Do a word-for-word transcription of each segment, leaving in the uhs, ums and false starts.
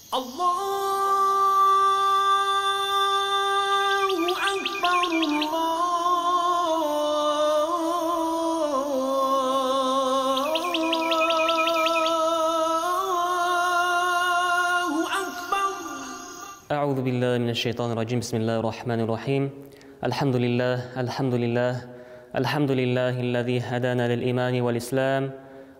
Allahu Akbar, Allahu Akbar. أعوذ بالله من الشيطان الرجيم. بسم الله الرحمن الرحيم. الحمد لله الحمد لله الحمد لله الذي هدانا للإيمان والإسلام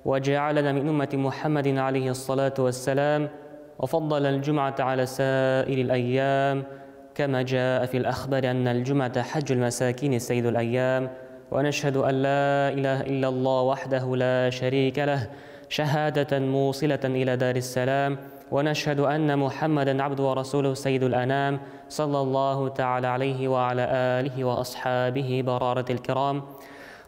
وجعلنا من أمة محمد عليه الصلاة والسلام وفضل الجمعة على سائر الأيام كما جاء في الأخبار أن الجمعة حج المساكين سيد الأيام. ونشهد أن لا إله إلا الله وحده لا شريك له شهادة موصلة إلى دار السلام، ونشهد أن محمدا عبده ورسوله سيد الأنام صلى الله تعالى عليه وعلى آله وأصحابه برارة الكرام،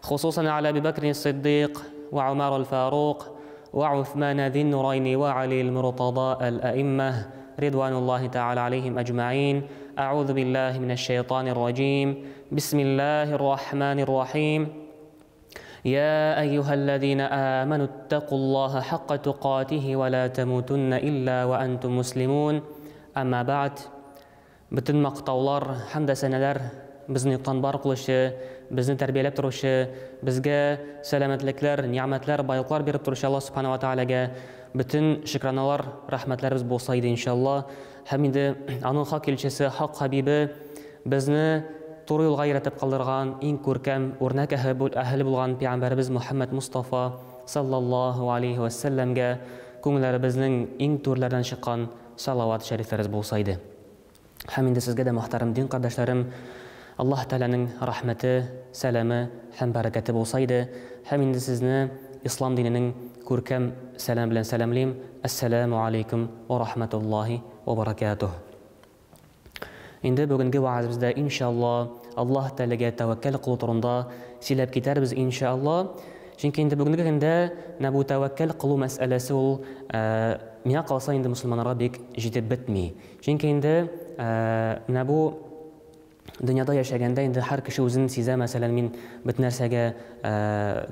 خصوصا على أبي بكر الصديق وعمر الفاروق وعثمان ذي النورين وعلي المرتضى الأئمة رضوان الله تعالى عليهم أجمعين. أعوذ بالله من الشيطان الرجيم. بسم الله الرحمن الرحيم. يا أيها الذين آمنوا اتقوا الله حق تقاته ولا تموتن إلا وأنتم مسلمون. أما بعد، бөтен мактаулар һәм дә сәнәләр безне юктан бар кылучы, безне тәрбияләп торучы, безгә сәламәтлекләр, ни'мәтләр, байлыклар биреп торучы Аллаһ субхана ва таалагә бөтен шөкраналар, рәхмәтләребез булса иде иншалла. Һәм инде аның хак илчесе, хак хабибе, безне туры юлга өйрәтеп калдырган иң күркәм үрнәк әһеле булган пәйгамбәребез Мухаммад Мустафа саллаллаһу алейхи ва сәлләмгә күңелләребезнең иң түрләреннән чыккан салават шәрифләребез булса иде. Һәм инде сезгә дә, мөхтәрәм дин кардәшләрем, Аллаһ Тәгаләнең рәхмәте, сәламе һәм бәрәкәте булса иде. Һәм инде сезне ислам диненең күркәм сәлам белән сәламлим. Ассаламу алейкум ва рахматуллаһи ва баракатуһ. Инде бүгенге вәгазебездә иншалла Аллаһ Тәгаләгә тәвәккәл кылу турында сөйләп китәрбез иншалла. Чөнки инде бүгенге көндә менә бу тәвәккәл кылу мәсьәләсе ул миңа калса инде мөселманнарга бик җитеп бетми. Чөнки инде менә бу дөньяда яшәгәндә инде һәр кеше үзен сизә, мәсәлән, мин бөтен нәрсәгә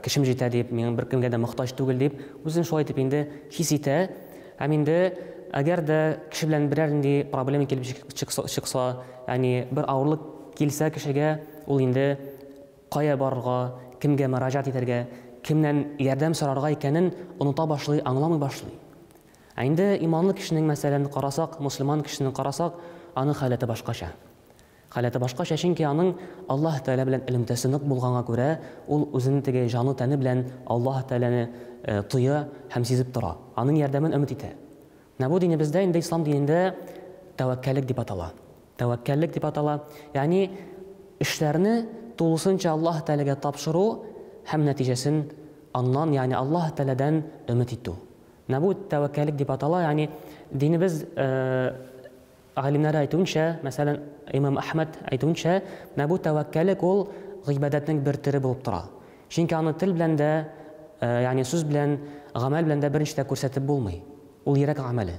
кешем җитә дип, мин беркемгә дә мохтаҗ түгел дип, үзен шулай итеп инде хис итә. Һәм инде әгәр дә кеше белән берәр нинди проблема килеп чыкса, ягъни бер авырлык килсә кешегә, ул инде кая барырга, кемгә мөрәҗәгать итәргә, кемнән ярдәм сорарга икәнен оныта башлый, аңламый башлый. Ә инде иманлы кешенең, мәсәлән, карасак, мөселман кешенең карасак, аның халәте башкача. Халәте башкача, чөнки аның Аллаһ Тәгалә белән элемтәсе нык булганга күрә, ул үзенең теге җаны тәне белән Аллаһ Тәгаләне тоя һәм сизеп тора. Аның ярдәмен өмет итә. Менә бу динебездә инде ислам динендә тәвәккәллек дип атала. Тәвәккәллек дип атала. Ягъни эшләрне тулысынча Аллаһ Тәгаләгә тапшыру һәм нәтиҗәсен аннан, ягъни Аллаһ Тәгаләдән өмет итү. Менә бу тәвәккәллек дип атала. Ягъни динебез галимнәре әйтүенчә, мәсәлән, Имам Әхмәд әйтүенчә, менә бу тәвәккәллек ул гыйбадәтнең бер төре булып тора. Чөнки аны тел белән дә, ягъни сүз белән, гамәл белән дә берничә дә күрсәтеп булмый. Ул йөрәк гамәле.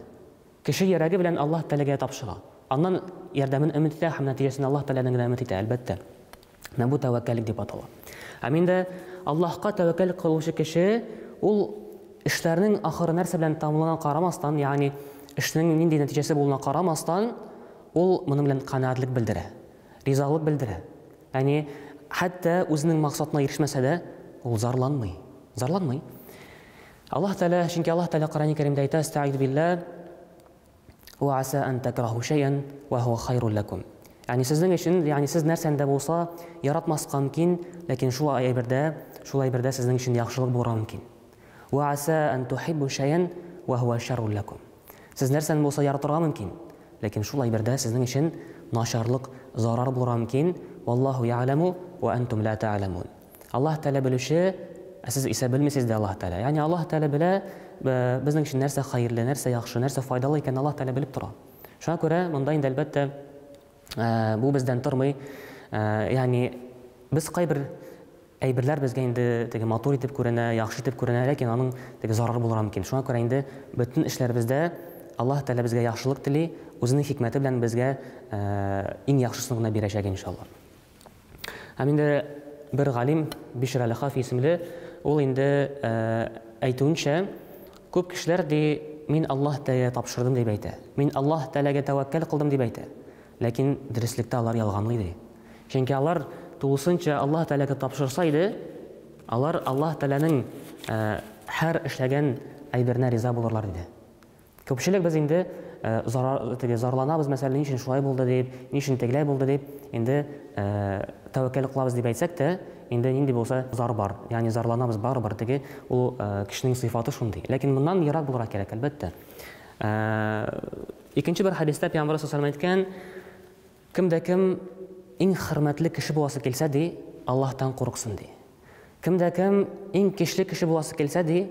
Кеше йөрәге белән Аллаһ Тәгаләгә тапшыра. Аннан ярдәмен өмет итә һәм нәтиҗәсен Аллаһ Тәгаләдән генә өмет итә, әлбәттә. Менә бу тәвәккәллек дип атала. Һәм инде Аллаһка тәвәккәл кылучы кеше ул эшләрнең ахыры нәрсә белән тәмамлануына карамастан, ягъни эшнең нинди нәтиҗәсе булуына карамастан, ул моның белән канәгатьлек белдерә, ризалык белдерә. Ягъни хәтта үзенең максатына ирешмәсә дә, ул зарланмый. Зарланмый. Аллаһ Тәгалә, чөнки Аллаһ Тәгалә Коръәни Кәримдә әйтә: "Әстәгыйзу биллаһ, ва аса ан такраһу шәйән ва һуа хайрун лакум." Ягъни сезнең өчен, ягъни сез нәрсәне дә булса яратмаска мөмкин, ләкин шул әйбердә, шул әйбердә сезнең өчен яхшылык булырга мөмкин. Ва аса ан тухиббу шәйән ва һуа шаррун лакум. Сез нәрсәне булса яратырга мөмкин, ләкин шул әйбердә сезнең өчен начарлык, зарар булырга мөмкин. Валлаһу я'ламу ва антум ла та'ламун. Аллаһ Тәгалә белүче, ә сез исә белмисез дә Аллаһ Тәгалә. Ягъни Аллаһ Тәгалә белә безнең өчен нәрсә хәерле, нәрсә яхшы, нәрсә файдалы икәнен Аллаһ Тәгалә белеп тора. Шуңа күрә монда инде әлбәттә бу бездән тормый. Ягъни без кайбер әйберләр безгә инде теге матур итеп күренә, яхшы итеп күренә, ләкин аның теге зарары булырга мөмкин. Шуңа күрә инде бөтен эшләребездә Аллаһ Тәгалә безгә яхшылык тели, үзенең хикмәте белән безгә иң яхшысын гына бирәчәк иншалла. Һәм инде бер галим Бишр әл-Хафи исемле, ул инде әйтүенчә, күп кешеләр ди мин Аллаһ Тәгаләгә тапшырдым дип әйтә. Мин Аллаһ Тәгаләгә тәвәккәл кылдым дип әйтә. Ләкин дөреслектә алар ялганлый ди. Чөнки алар тулысынча Аллаһ Тәгаләгә тапшырса иде, алар Аллаһ Тәгаләнең һәр эшләгән әйберенә риза булырлар иде. Күпчелек без инде зарар, теге зарланабыз, мәсәлән, ни өчен шулай булды дип, ни өчен тегеләй булды дип, инде тәвәккәл кылабыз дип әйтсәк тә, инде нинди булса зар бар, ягъни зарланабыз барыбер, теге ул кешенең сыйфаты шундый. Ләкин моннан ерак булырга кирәк, әлбәттә. Икенче бер хәдистә Пәйгамбәр саллаллаһу алейһи ва сәлләм әйткән, кем дә кем иң хөрмәтле кеше буласы килсә ди, Аллаһтан курыксын ди. Кем дә кем иң көчле кеше буласы килсә ди,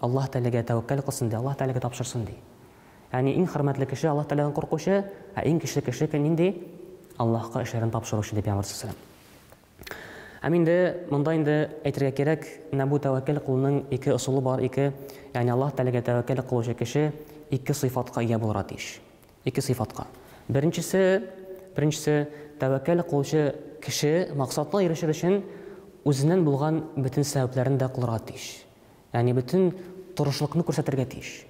Аллаһ Тәгаләгә тәвәккәл кылсын ди, Аллаһ Тәгаләгә тапшырсын ди. Ягъни иң хөрмәтле кеше Аллаһ Тәгаләдән куркучы, ә иң көчле кеше нинди? Аллаһка эшләрен тапшыручы дип Пәйгамбәр саллаллаһу алейһи ва сәлләм. Һәм инде монда инде әйтергә кирәк, менә бу тәвәккәл кылуның ике ысулы бар, ике, ягъни Аллаһ Тәгаләгә тәвәккәл кылучы кеше ике сыйфатка ия булырга тиеш. Ике сыйфатка. Беренчесе, беренчесе тәвәккәл кылучы кеше максатына ирешер өчен үзеннән булган бөтен сәбәпләрен дә кылырга тиеш. Ягъни бөтен тырышлыкны күрсәтергә тиеш.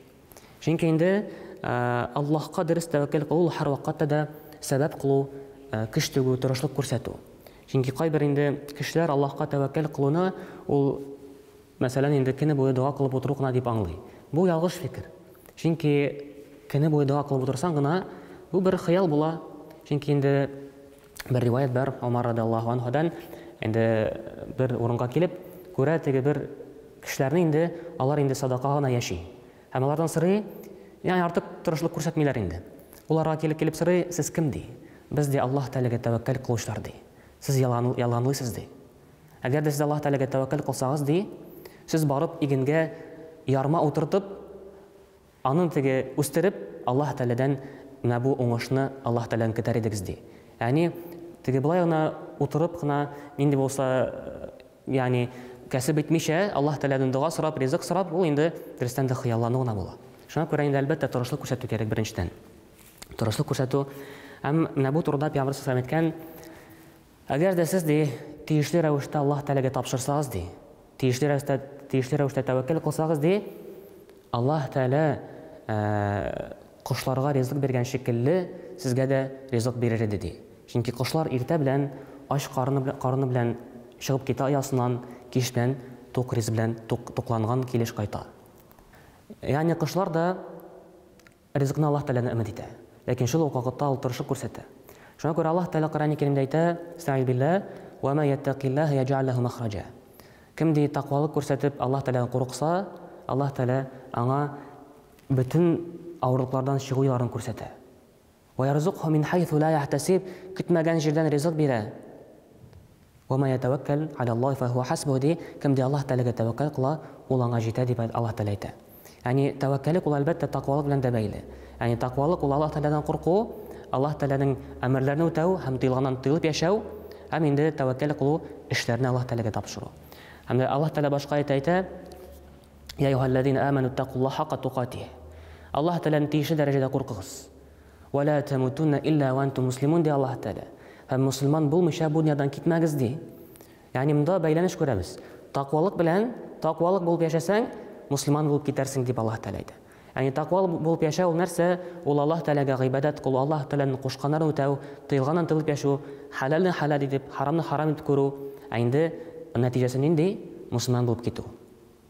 Чөнки инде Аллаһка дөрес тәвәккәл кылу һәр вакытта да сәбәп кылу, көч түгү, тырышлык күрсәтү. Чөнки кайбер инде кешеләр Аллаһка тәвәккәл кылуны ул, мәсәлән, инде көне буе дога кылып утыру гына дип аңлый. Бу ялгыш фикер. Чөнки көне буе дога кылып утырсаң гына, бу бер хыял була. Чөнки инде бер риваять бар Умар радиаллаһу анһудан, инде бер урынга килеп, күрә теге бер кешеләрне инде алар инде садака гына яши. Һәм алардан сорый, ягъни артык тырышлык күрсәтмиләр инде. Уларга килеп килеп сорый, сез кем ди? Без ди Аллаһ Тәгаләгә тәвәккәл кылучылар ди. Сез ялган, ялганлыйсыз ди. Әгәр дә сез Аллаһ Тәгаләгә тәвәккәл кылсагыз ди, сез барып игенгә ярма утыртып, аны теге үстереп, Аллаһ Тәгаләдән менә бу уңышны Аллаһ Тәгаләдән көтәр идегез ди. Ягъни теге болай гына утырып кына нинди булса, ягъни кәсеп итмичә Аллаһ Тәгаләдән дога сорап, ризык сорап, ул инде дөрестән дә хыяллану гына була. Шуңа күрә инде әлбәттә тырышлык күрсәтү кирәк беренчедән. Тырышлык күрсәтү. Һәм менә бу турыда Пәйгамбәр саллаллаһу алейһи ва сәлләм әйткән, әгәр дә сез ди тиешле рәвештә Аллаһ Тәгаләгә тапшырсагыз ди, тиешле рәвештә, тиешле рәвештә тәвәккәл кылсагыз ди, Аллаһ Тәгалә кошларга ризык биргән шикелле сезгә дә ризык бирер иде ди. Чөнки кошлар иртә белән ач карыны белән, карыны белән чыгып китә оясыннан, кич белән тук ризык белән тук, тукланган килеш кайта. Ягъни кошлар да ризыкны Аллаһ Тәгаләдән өмет итә. Ләкин шул ук вакытта ул тырышып күрсәтә. Шуңа күрә Аллаһ Тәгалә Коръән Кәримдә әйтә, Әстәгыйзу биллаһ, «Ва ма яттакиллаһа яҗ'ал лаху махраҗа». Кем ди тәкъвалык күрсәтеп Аллаһ Тәгаләдән курыкса, Аллаһ Тәгалә аңа бөтен авырлыклардан чыгу юлларын күрсәтә. Ва ярзукху мин хайсу ла яхтасиб, көтмәгән җирдән ризык бирә. Ва ма ятаваккал аля Аллаһи фа хуа хасбуху ди, кем ди Аллаһ Тәгаләгә тәвәккәл кыла, ул аңа җитә дип Аллаһ Тәгалә әйтә. Ягъни тәвәккәллек ул әлбәттә тәкъвалык белән дә бәйле. Ягъни тәкъвалык ул Аллаһ Тәгаләдән курку, Аллаһ Тәгаләнең әмерләрен үтәү һәм тыелганнан тыелып яшәү, һәм инде тәвәккәл кылу эшләрне Аллаһ Тәгаләгә тапшыру. Һәм дә Аллаһ Тәгалә башка әйтә, әйтә, Я әйюһәлләзина аману тәкуллаһа хакка тукатиһ. Аллаһ Тәгаләдән тиешле дәрәҗәдә куркыгыз. Ва ла тамутунна илля ва антум муслимун ди Аллаһ Тәгалә. Һәм мусульман булмыйча бу дөньядан китмәгез ди. Ягъни монда бәйләнеш күрәбез. Тәкъвалык белән, тәкъвалык булып яшәсәң, мусульман булып китәрсең дип Аллаһ Тәгалә әйтә. Ягъни тәкъва булып яшәү ул нәрсә? Ул Аллаһ Тәгаләгә гыйбадәт кылу, Аллаһ Тәгаләнең кушканнарын үтәү, тыелганнан тыелып яшәү, хәләлне хәләл итеп, харамны харам итеп күрү. Ә инде нәтиҗәсе нинди? Мусульман булып китү.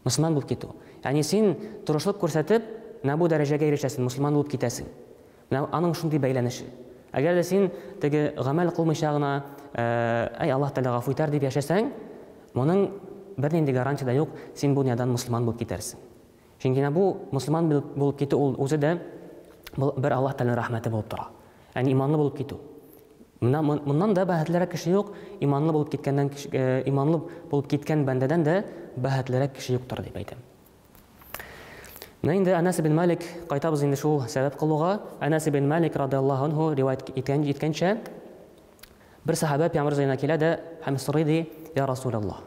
Мусульман булып китү. Ягъни син тырышлык күрсәтеп, менә бу дәрәҗәгә ирешәсең, мусульман булып китәсең. Менә аның шундый бәйләнеше. Әгәр дә син теге гамәл кылмыйча гына, әй Аллаһ Тәгалә гафу итәр дип яшәсәң, моның бернинди гарантия дә юк, син бу дөньядан мусульман булып китәрсең. Чөнки менә бу мусульман булып китү ул үзе дә бер Аллаһ Тәгаләнең рәхмәте булып тора. Ягъни иманлы булып китү. Менә моннан да бәхетлерәк кеше юк, иманлы булып киткәннән кеше, иманлы булып киткән бәндәдән дә бәхетлерәк кеше юктыр дип әйтәм. Менә инде Әнәс ибн Малик, кайтабыз инде шул сәбәп кылуга. Әнәс ибн Малик радиаллаһу анһу риваять иткән, иткәнчә, бер сахаба пәйгамбәр янына килә дә һәм сорый ди: Я Расулаллаһ,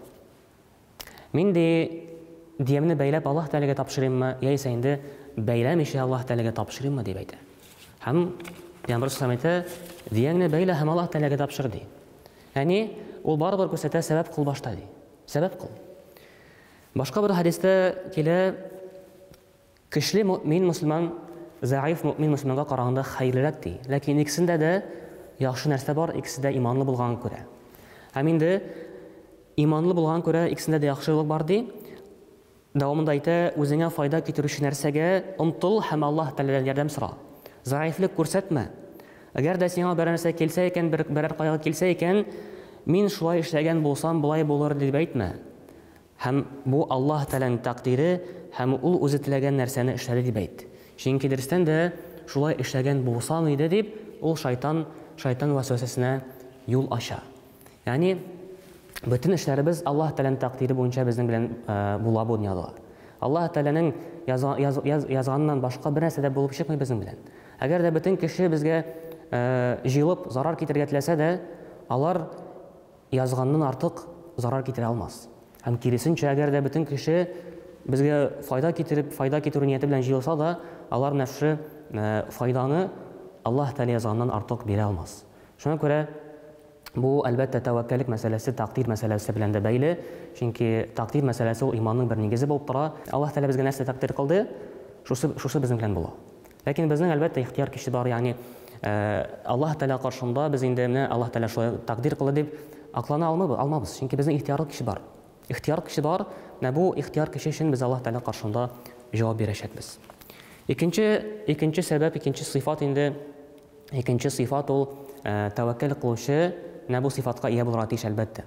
мин ди диемне бәйләп Аллаһ Тәгаләгә тапшырыйммы, яисә инде бәйләмичә Аллаһ Тәгаләгә тапшырыйммы дип әйтә. Һәм пәйгамбәр саллаллаһу алейһи ва сәлләм әйтә: Дияңне бәйлә һәм Аллаһ Тәгаләгә тапшыр ди. Ягъни ул барыбер күрсәтә, сәбәп кыл башта ди. Сәбәп кыл. Башка бер хәдистә килә, Көчле мөмин мөселман зәгыйф мөмин мөселманга караганда хәерлерәк ди. Ләкин икесендә дә яхшы нәрсә бар, икесе дә иманлы булганга күрә. Һәм инде иманлы булганга күрә икесендә дә яхшылык бар ди. Дәвамында әйтә, үзеңә файда китерүче нәрсәгә омтыл һәм Аллаһ Тәгаләдән ярдәм сора. Зәгыйфьлек күрсәтмә. Әгәр дә сиңа берәр нәрсә килсә икән, бер, берәр кайгы килсә икән, мин шулай эшләгән булсам, болай булыр дип әйтмә. Һәм бу Аллаһ Тәгаләнең тәкъдире һәм ул үзе теләгән нәрсәне эшләде дип әйт. Чөнки дөрестән дә шулай эшләгән булсам иде дип, ул шайтан, шайтан вәсвәсәсенә юл ача. Ягъни бөтен эшләребез Аллаһ Тәгаләнең тәкъдире буенча безнең белән була бу дөньяда. Аллаһ Тәгаләнең язганыннан башка бер нәрсә дә булып чыкмый безнең белән. Әгәр дә бөтен кеше безгә җыелып зарар китерергә теләсә дә, алар язганнан артык зарар китерә алмас. Һәм киресенчә, әгәр дә бөтен кеше безгә файда китереп, файда китерү нияте белән җыелса да, алар менә шушы файданы Аллаһ Тәгалә язганнан артык бирә алмас. Шуңа күрә бу, әлбәттә, тәвәккәллек мәсьәләсе тәкъдир мәсьәләсе белән дә бәйле, чөнки тәкъдир мәсьәләсе ул иманның бер нигезе булып тора. Аллаһ Тәгалә безгә нәрсә тәкъдир кылды, шушы, шушы безнең белән була. Ләкин безнең, әлбәттә, ихтияр көче бар, ягъни Аллаһ Тәгалә каршында без инде менә Аллаһ Тәгалә шулай тәкъдир кылды дип аклана алмабыз, алмабыз, чөнки безнең ихтиярлы көче бар. Ихтияр көче бар, менә бу ихтияр көче өчен без Аллаһ Тәгалә каршында җавап бирәчәкбез. Икенче, икенче сәбәп, икенче сыйфат инде, икенче сыйфат ул тәвәккәл кылучы менә бу сыйфатка ия булырга тиеш, әлбәттә.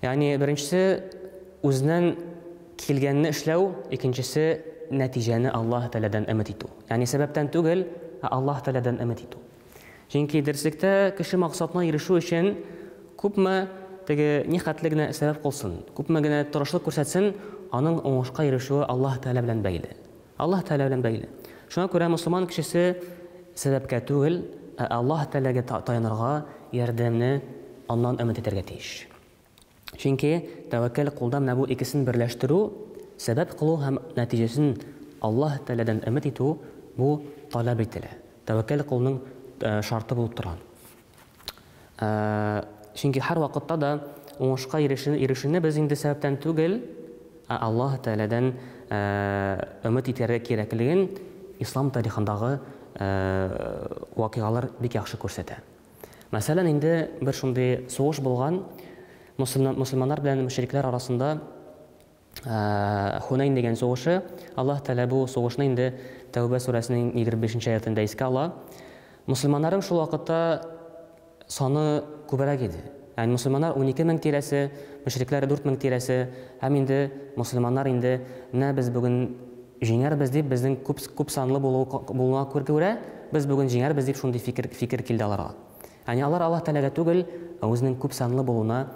Ягъни беренчесе үзеннән килгәнне эшләү, икенчесе нәтиҗәне Аллаһ Тәгаләдән өмет итү. Ягъни сәбәптән түгел, ә Аллаһ Тәгаләдән өмет итү. Чөнки дөреслектә кеше максатына ирешү өчен күпме теге ни хәтле генә сәбәп кылсын, күпме генә тырышлык күрсәтсен, аның уңышка ирешүе Аллаһ Тәгалә белән бәйле. Аллаһ Тәгалә белән бәйле. Шуңа күрә мөселман кешесе сәбәпкә түгел, ә Аллаһ Тәгаләгә таянырга, ярдәмне аннан өмет итәргә тиеш. Чөнки тәвәккәл кулда менә бу икесен берләштерү, сәбәп кылу һәм нәтиҗәсен Аллаһ Тәгаләдән өмет итү бу таләп ителә. Тәвәккәл кылуның шарты булып тора. Чөнки һәр вакытта да уңышка ирешүне без инде сәбәптән түгел, ә Аллаһ Тәгаләдән өмет итәргә кирәклеген ислам тарихындагы вакыйгалар бик яхшы күрсәтә. Мәсәлән, инде бер шундый сугыш булган мөселманнар белән мөшрикләр арасында Хунайн дигән сугышы. Аллаһ Тәгалә бу сугышны инде Тәүбә сүрәсенең егерме бишенче аятында искә ала. Мөселманнарның шул вакытта саны күбрәк иде. Ягъни мөселманнар унике мең тирәсе, мөшрикләр дүрт мең тирәсе, һәм инде мөселманнар инде менә без бүген җиңәрбез дип, безнең күп, күп санлы булуына күрә, без бүген җиңәрбез дип шундый фикер, фикер килде аларга. Ягъни алар Аллаһ Тәгаләгә түгел, ә үзенең күп санлы булуына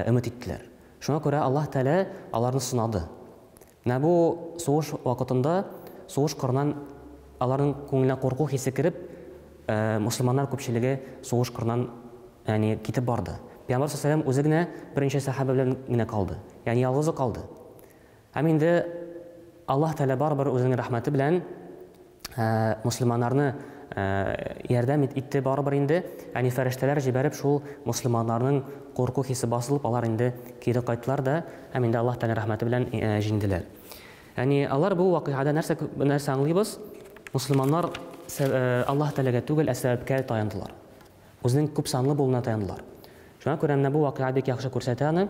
өмет иттеләр. Шуңа күрә Аллаһ Тәгалә аларны сынады. Менә бу сугыш вакытында сугыш кырыннан аларның күңеленә курку хисе кереп, мөселманнар күпчелеге сугыш кырыннан, ягъни китеп барды. Пәйгамбәр саллаллаһу алейһи ва сәлләм үзе генә беренче сәхабә белән генә калды. Ягъни ялгызы калды. Һәм инде Аллаһ Тәгалә барыбер үзенең рәхмәте белән мөселманнарны ярдәм итте барыбер инде. Ягъни фәрештәләр җибәреп шул мөселманнарның курку хисе басылып, алар инде кире кайттылар да һәм инде Аллаһ Тәгалә рәхмәте белән җиңделәр. Ягъни алар бу вакыйгада нәрсә, нәрсә аңлыйбыз? Мөселманнар Аллаһ Тәгаләгә түгел, ә сәбәпкә таяндылар. Үзенең күп санлы булуына таяндылар. Шуңа күрә менә бу вакыйга бик яхшы күрсәтә аны.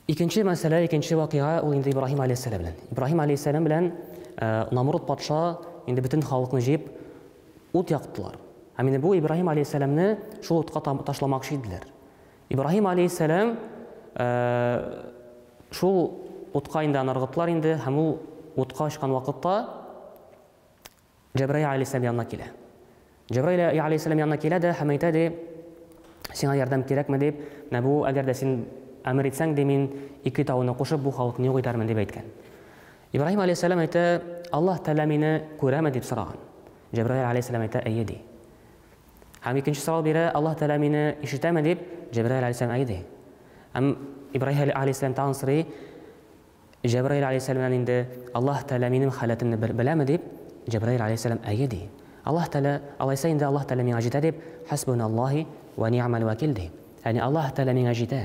Икенче мәсьәлә, икенче вакыйга ул инде Ибраһим алейһиссәлам белән. Ибраһим алейһиссәлам белән Намруд патша инде бөтен халыкны җыеп ут яктылар. Һәм инде бу Ибраһим алейһиссәламне шул утка ташламакчы иделәр. Ибраһим алейһиссәлам шул утка инде аны ыргыттылар инде, һәм ул утка очкан вакытта Җәбраил алейһиссәлам янына килә. Җәбраил алейһиссәлам янына килә дә һәм әйтә ди, сиңа ярдәм кирәкме дип, менә бу әгәр дә син әмер итсәң ди, мин ике тауны кушып бу халыкны юк итәрмен дип әйткән. Ибраһим алейһиссәлам әйтә, Аллаһ Тәгалә мине күрәме дип сораган. Җәбраил алейһиссәлам әйтә, әйе ди. Һәм икенче сорау бирә, Аллаһ Тәгалә мине ишетәме дип, Җәбраил алейһиссәлам әйе ди. Һәм Ибраһим алейһиссәлам тагын сорый, Җәбраил алейһиссәламнән инде Аллаһ Тәгалә минем халәтемне беләме дип, Җәбраил алейһиссәлам әйе ди. Аллаһ Тәгалә, алайса инде Аллаһ Тәгалә миңа җитә дип, хасбуналлаһи ва ни'мал вакил ди. Ягъни Аллаһ Тәгалә миңа җитә.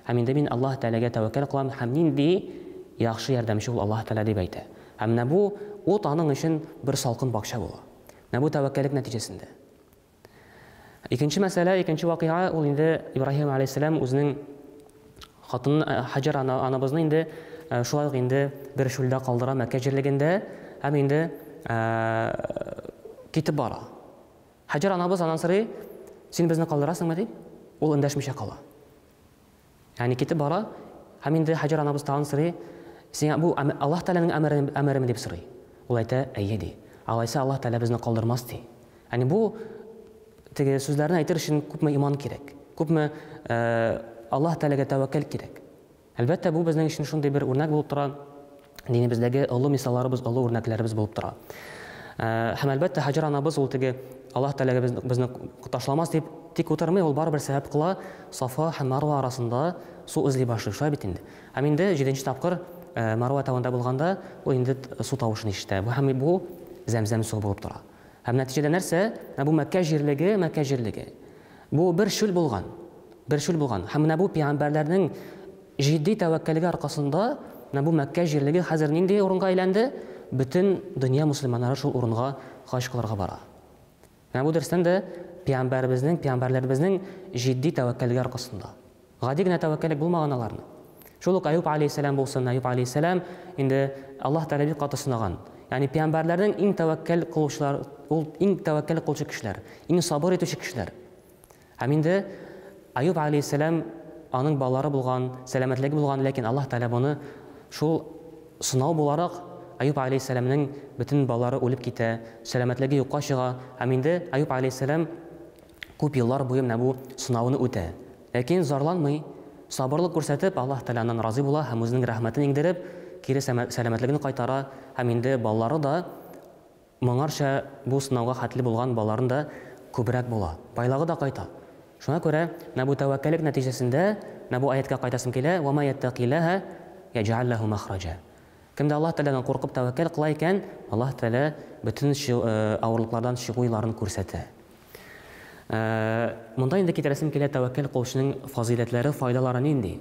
Һәм инде мин Аллаһ Тәгаләгә тәвәккәл кылам һәм нинди яхшы ярдәмче ул Аллаһ Тәгалә дип әйтә. Һәм менә бу ут аның өчен бер салкын бакча була. Менә бу тәвәккәллек нәтиҗәсендә. Икенче мәсьәлә, икенче вакыйга, ул инде Ибраһим алейһиссәлам үзенең хатынын Хаҗар анабызны инде шулай ук инде бер чүлдә калдыра Мәккә җирлегендә һәм инде китеп бара. Хаҗар анабыз аннан сорый, син безне калдырасыңмы дип, ул эндәшмичә кала. Ягъни китеп бара һәм инде Хаҗар анабыз тагын сорый, сиңа бу Аллаһ Тәгаләнең әмереме дип сорый. Ул әйтә, әйе ди. Алайса Аллаһ Тәгалә безне калдырмас ди. Ягъни бу теге сүзләрне әйтер өчен күпме иман кирәк, күпме Аллаһ Тәгаләгә тәвәккәл кирәк. Әлбәттә, бу безнең өчен шундый бер үрнәк булып тора. Динебездәге олы мисалларыбыз, олы үрнәкләребез булып тора. Һәм әлбәттә, Хаҗар анабыз ул теге Аллаһ Тәгалә безне ташламас дип тик утырмый, ул барыбер сәбәп кыла, Сафа һәм Марва арасында су эзли башлый, шулай бит инде. Һәм инде җиденче тапкыр Марва тавында булганда, ул инде су тавышын ишетә. Бу һәм бу Зәмзәм суы булып тора. Һәм нәтиҗәдә нәрсә? Бу Мәккә җирлеге, Мәккә җирлеге. Бу бер чүл булган. Бер чүл булган. Һәм менә бу пәйгамбәрләрнең җитди тәвәккәллеге аркасында менә бу Мәккә җирлеге хәзер нинди урынга әйләнде? Бөтен дөнья мусульманнары шул урынга хаҗ кылырга бара. Менә бу дөрестән дә пәйгамбәребезнең, пәйгамбәрләребезнең җитди тәвәккәллеге аркасында. Гади генә тәвәккәллек булмаган аларны. Шул ук Аюб алейһиссәлам булсын, Аюб алейһиссәлам инде Аллаһ Тәгалә бик каты сынаган. Ягъни пәйгамбәрләрнең иң тәвәккәл кылучылар, ул иң тәвәккәл кылучы кешеләр, иң сабыр итүче кешеләр. Һәм инде Аюб алейһиссәлам аның балалары булган, сәламәтлеге булган, ләкин Аллаһ Тәгалә моны шул сынау буларак Аюб алейһиссәламнең бөтен балалары үлеп китә, сәламәтлеге юкка чыга. Һәм инде Аюб алейһиссәлам күп еллар буе менә бу сынауны үтә. Ләкин зарланмый, сабырлык күрсәтеп, Аллаһ Тәгалә аннан разый була һәм үзенең рәхмәтен иңдереп, кире сәламәтлеген кайтара һәм инде балалары да моңарча бу сынауга хәтле булган балаларын да күбрәк була. Байлыгы да кайта. Шуңа күрә менә бу тәвәккәллек нәтиҗәсендә менә бу аятка кайтасым килә: "Ва ма яттакиллаһа яҗ'ал лаху махраҗа". Кемдә Аллаһ Тәгаләдән куркып тәвәккәл кыла икән, Аллаһ Тәгалә бөтен авырлыклардан чыгу юлларын күрсәтә. Монда инде китерәсем килә тәвәккәл кылучының фазыйләтләре, файдалары нинди?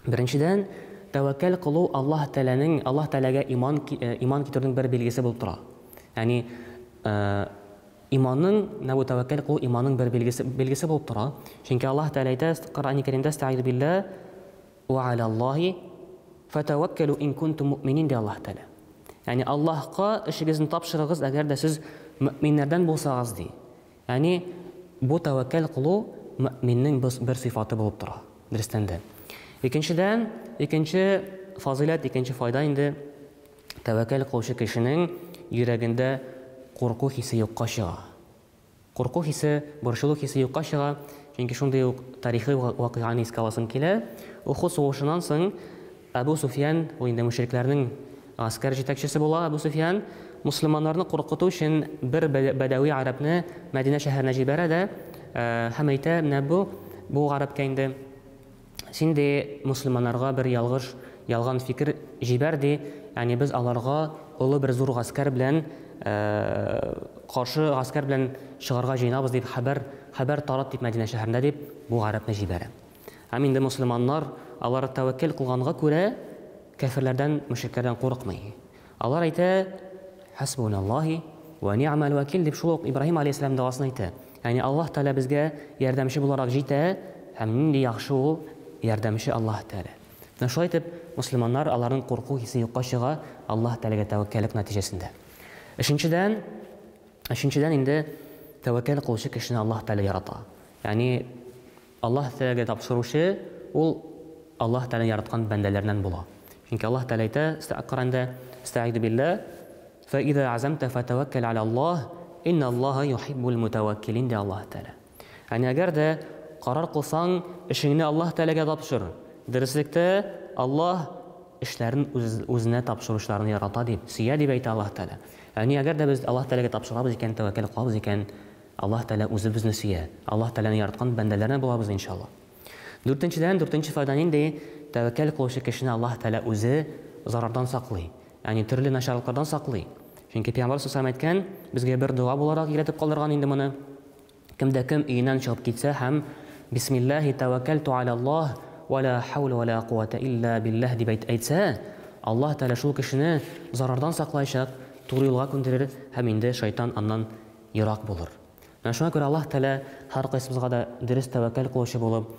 Беренчедән, тәвәккәл кылу Аллаһ Тәгаләнең, Аллаһ Тәгаләгә иман иман китерүнең бер билгесе булып тора. Ягъни иманның, менә бу тәвәккәл кылу иманның бер билгесе билгесе булып тора. Чөнки Аллаһ Тәгалә әйтә Коръән Кәримдә: "Әстәгыйзу биллаһ ва алаллаһи фатаваккалу ин кунтум муъминин" ди Аллаһ Тәгалә. Ягъни Аллаһка эшегезне тапшырыгыз, әгәр дә сез мөэминнәрдән булсагыз ди. Ягъни бу тәвәккәл кылу мөэминнең бер сыйфаты булып тора, дөрестән дә. Икенчедән, икенче фазыйләт, икенче файда инде тәвәккәл кылучы кешенең йөрәгендә курку хисе юкка чыга. Курку хисе, борчылу хисе юкка чыга. Чөнки шундый ук тарихи вакыйганы искә аласым килә. Ухуд сугышыннан соң Әбу Суфиян, ул инде мөшрикләрнең гаскәр җитәкчесе була. Әбу Суфиян мусульманнарны куркыту өчен бер бәдәви гарәпне Мәдинә шәһәренә җибәрә дә һәм әйтә: "Менә бу бу гарәпкә инде син дә мусульманнарга бер ялгыш, ялган фикер җибәр ди. Ягъни без аларга олы бер зур гаскәр белән каршы гаскәр белән чыгарга җыенабыз дип хәбәр хәбәр тарат дип Мәдинә шәһәрендә" дип бу гарәпне җибәрә. Һәм инде мусульманнар алар тәвәккәл кылганга күрә кәферләрдән, мөшрикләрдән курыкмый. Алар әйтә: "Хасбуналлаһи ва ни'мал вакил" дип шул ук Ибраһим алейһиссәлам дуасын әйтә. Ягъни Аллаһ Тәгалә безгә ярдәмче буларак җитә һәм нинди яхшы ул ярдәмче Аллаһ Тәгалә. Менә шулай итеп мусульманнар аларның курку хисе юкка чыга Аллаһ Тәгаләгә тәвәккәллек нәтиҗәсендә. Өченчедән, өченчедән инде тәвәккәл кылучы кешене Аллаһ Тәгалә ярата. Ягъни Аллаһ Тәгаләгә тапшыручы ул Аллаһ Тәгалә яраткан бәндәләреннән була. Чөнки Аллаһ Тәгалә әйтә Коръәндә: "Әстәгыйзу биллаһ, фа иза азамта фатаваккал алаллаһ, инналлаһа юхиббул мутаваккилин" ди Аллаһ Тәгалә. Ягъни әгәр дә карар кылсаң, эшеңне Аллаһ Тәгаләгә тапшыр. Дөреслектә Аллаһ эшләрен үзенә тапшыручыларны ярата дип, сөя дип әйтә Аллаһ Тәгалә. Ягъни әгәр дә без Аллаһ Тәгаләгә тапшырабыз икән, тәвәккәл кылабыз икән, Аллаһ Тәгалә үзе безне сөя. Аллаһ Тәгаләне яраткан бәндәләренә булабыз иншаллаһ. Дүртенчедән, дүртенче файда нинди? Тәвәккәл кылучы кешене Аллаһ Тәгалә үзе зарардан саклый. Ягъни төрле начарлыклардан саклый. Чөнки Пәйгамбәр саллаллаһу алейһи ва сәлләм әйткән, безгә бер дога буларак өйрәтеп калдырган инде моны. Кемдә кем өеннән чыгып китсә һәм "Бисмиллаһи таваккалту алаллаһ ва ла хаула ва ла куввата илля биллаһ" дип әйтсә, Аллаһ Тәгалә шул кешене зарардан саклаячак, туры юлга күндерер һәм инде шайтан аннан ерак булыр. Менә шуңа күрә Аллаһ Тәгалә һәркайсыбызга да дөрес тәвәккәл кылучы булып,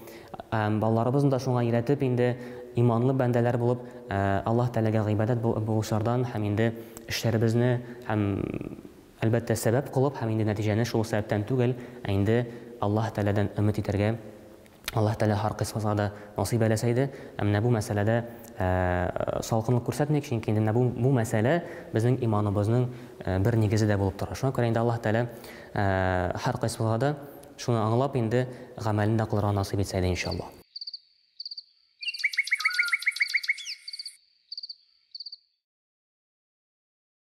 балаларыбызны да шуңа өйрәтеп инде иманлы бәндәләр булып, Аллаһ Тәгаләгә гыйбадәт булучылардан һәм инде эшләребезне һәм әлбәттә сәбәп кылып һәм инде нәтиҗәне шул сәбәптән түгел, ә инде Аллаһ Тәгаләдән өмет итәргә Аллаһ Тәгалә һәркайсыбызга да насыйп әйләсә иде. Ә менә бу мәсьәләдә салкынлык күрсәтмик, чөнки инде менә бу, бу мәсьәлә безнең иманыбызның бер нигезе дә булып тора. Шуңа күрә инде Аллаһ Тәгалә һәркайсыбызга да шуны аңлап инде гамәлен дә кылырга насыйп итсә иде иншаллаһ.